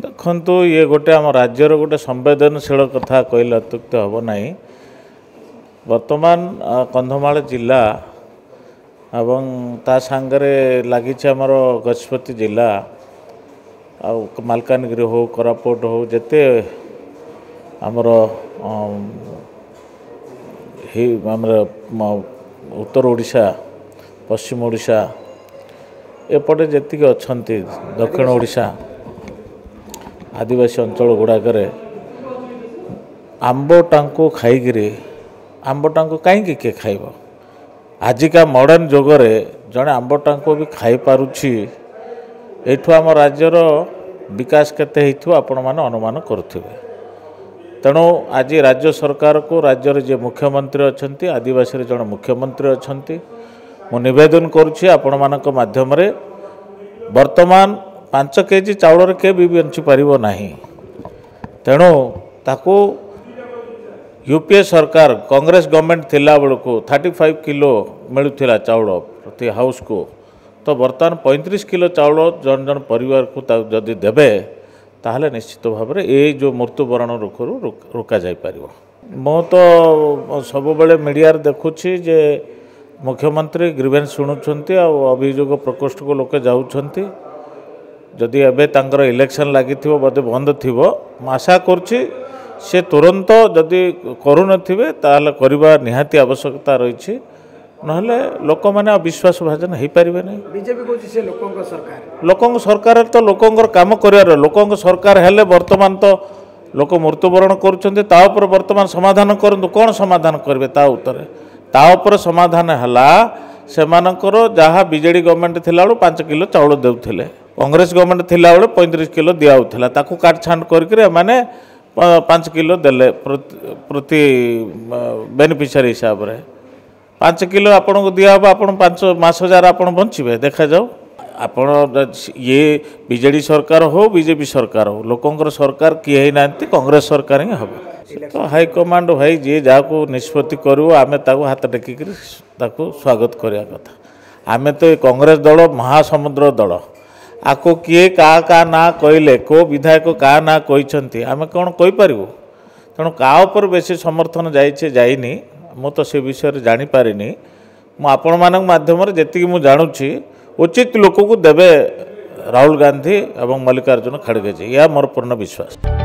ଦେଖନ୍ତୁ, ଇଏ ଗୋଟେ ଆମ ରାଜ୍ୟର ଗୋଟେ ସମ୍ବେଦନଶୀଳ କଥା କହିଲେ ଅତ୍ୟୁକ୍ତି ହେବ ନାହିଁ। ବର୍ତ୍ତମାନ କନ୍ଧମାଳ ଜିଲ୍ଲା ଏବଂ ତା ସାଙ୍ଗରେ ଲାଗିଛି ଆମର ଗଜପତି ଜିଲ୍ଲା, ଆଉ ମାଲକାନଗିରି ହଉ, କୋରାପୁଟ ହଉ, ଯେତେ ଆମର ଆମର ଉତ୍ତର ଓଡ଼ିଶା, ପଶ୍ଚିମ ଓଡ଼ିଶା, ଏପଟେ ଯେତିକି ଅଛନ୍ତି ଦକ୍ଷିଣ ଓଡ଼ିଶା ଆଦିବାସୀ ଅଞ୍ଚଳ ଗୁଡ଼ାକରେ ଆମ୍ବଟାଙ୍କୁ ଖାଇକିରି, ଆମ୍ବଟାଙ୍କୁ କାହିଁକି କିଏ ଖାଇବ? ଆଜିକା ମଡ଼ର୍ଣ୍ଣ ଯୁଗରେ ଜଣେ ଆମ୍ବଟାଙ୍କୁ ବି ଖାଇପାରୁଛି, ଏଇଠୁ ଆମ ରାଜ୍ୟର ବିକାଶ କେତେ ହେଇଥିବ ଆପଣମାନେ ଅନୁମାନ କରୁଥିବେ। ତେଣୁ ଆଜି ରାଜ୍ୟ ସରକାରକୁ, ରାଜ୍ୟରେ ଯିଏ ମୁଖ୍ୟମନ୍ତ୍ରୀ ଅଛନ୍ତି, ଆଦିବାସୀରେ ଜଣେ ମୁଖ୍ୟମନ୍ତ୍ରୀ ଅଛନ୍ତି, ମୁଁ ନିବେଦନ କରୁଛି ଆପଣମାନଙ୍କ ମାଧ୍ୟମରେ, ବର୍ତ୍ତମାନ 5 କେଜି ଚାଉଳରେ କିଏ ବି ବଞ୍ଚିପାରିବ ନାହିଁ। ତେଣୁ ତାକୁ ୟୁ ପି ଏ ସରକାର, କଂଗ୍ରେସ ଗଭର୍ଣ୍ଣମେଣ୍ଟ ଥିଲାବେଳକୁ 35 କିଲୋ ମିଳୁଥିଲା ଚାଉଳ ପ୍ରତି ହାଉସ୍କୁ, ତ ବର୍ତ୍ତମାନ 35 କିଲୋ ଚାଉଳ ଜଣ ଜଣ ପରିବାରକୁ ତାକୁ ଯଦି ଦେବେ, ତାହେଲେ ନିଶ୍ଚିତ ଭାବରେ ଏଇ ଯେଉଁ ମୃତ୍ୟୁବରଣ ରୋଗରୁ ରୋକାଯାଇପାରିବ। ମୁଁ ତ ସବୁବେଳେ ମିଡ଼ିଆରେ ଦେଖୁଛି ଯେ ମୁଖ୍ୟମନ୍ତ୍ରୀ ଗ୍ରିଭେନ୍ସ ଶୁଣୁଛନ୍ତି ଆଉ ଅଭିଯୋଗ ପ୍ରକୋଷ୍ଠକୁ ଲୋକେ ଯାଉଛନ୍ତି। ଯଦି ଏବେ ତାଙ୍କର ଇଲେକ୍ସନ୍ ଲାଗିଥିବ, ବୋଧେ ବନ୍ଦ ଥିବ, ମୁଁ ଆଶା କରୁଛି ସେ ତୁରନ୍ତ ଯଦି କରୁନଥିବେ ତାହେଲେ କରିବା ନିହାତି ଆବଶ୍ୟକତା ରହିଛି, ନହେଲେ ଲୋକମାନେ ଆଉ ବିଶ୍ୱାସ ଭାଜନ ହେଇପାରିବେ ନାହିଁ। ବିଜେପି କହୁଛି ସେ ଲୋକଙ୍କ ସରକାର। ଲୋକଙ୍କ ସରକାର ତ ଲୋକଙ୍କର କାମ କରିବାର, ଲୋକଙ୍କ ସରକାର ହେଲେ ବର୍ତ୍ତମାନ ତ ଲୋକ ମୃତ୍ୟୁବରଣ କରୁଛନ୍ତି, ତା ଉପରେ ବର୍ତ୍ତମାନ ସମାଧାନ କରନ୍ତୁ। କ'ଣ ସମାଧାନ କରିବେ ତା ଉପରେ? ତା ଉପରେ ସମାଧାନ ହେଲା ସେମାନଙ୍କର ଯାହା ବିଜେଡ଼ି ଗଭର୍ଣ୍ଣମେଣ୍ଟ ଥିଲାବେଳୁ 5 କିଲୋ ଚାଉଳ ଦେଉଥିଲେ, କଂଗ୍ରେସ ଗଭର୍ଣ୍ଣମେଣ୍ଟ ଥିଲାବେଳେ 35 କିଲୋ ଦିଆହେଉଥିଲା, ତାକୁ କାଟଛାଣ୍ଟ କରିକିରି ଏମାନେ 5 କିଲୋ ଦେଲେ ପ୍ରତି ବେନିଫିସିଆରୀ ହିସାବରେ। 5 କିଲୋ ଆପଣଙ୍କୁ ଦିଆହେବ, ଆପଣ 5 ମାସ ଯାର ଆପଣ ବଞ୍ଚିବେ? ଦେଖାଯାଉ। ଆପଣ ଇଏ ବିଜେଡ଼ି ସରକାର ହଉ, ବିଜେପି ସରକାର ହଉ, ଲୋକଙ୍କର ସରକାର କିଏ ହେଇନାହାନ୍ତି, କଂଗ୍ରେସ ସରକାର ହିଁ ହେବ। ତ ହାଇକମାଣ୍ଡ ଭାଇ ଯିଏ ଯାହାକୁ ନିଷ୍ପତ୍ତି କରିବ, ଆମେ ତାକୁ ହାତ ଟେକିକିରି ତାକୁ ସ୍ୱାଗତ କରିବା କଥା। ଆମେ ତ ଏ କଂଗ୍ରେସ ଦଳ ମହାସମୁଦ୍ର ଦଳ, ଆକୁ କିଏ କାହା କାହା ନାଁ କହିଲେ, କେଉଁ ବିଧାୟକ କାହା ନାଁ କହିଛନ୍ତି, ଆମେ କ'ଣ କହିପାରିବୁ? ତେଣୁ କାହା ଉପରେ ବେଶୀ ସମର୍ଥନ ଯାଇଛି ଯାଇନି, ମୁଁ ତ ସେ ବିଷୟରେ ଜାଣିପାରିନି। ମୁଁ ଆପଣମାନଙ୍କ ମାଧ୍ୟମରେ ଯେତିକି ମୁଁ ଜାଣୁଛି, ଉଚିତ ଲୋକକୁ ଦେବେ ରାହୁଲ ଗାନ୍ଧୀ ଏବଂ ମଲ୍ଲିକାର୍ଜୁନ ଖଡ଼ଗେଜୀ, ଏହା ମୋର ପୂର୍ଣ୍ଣ ବିଶ୍ୱାସ।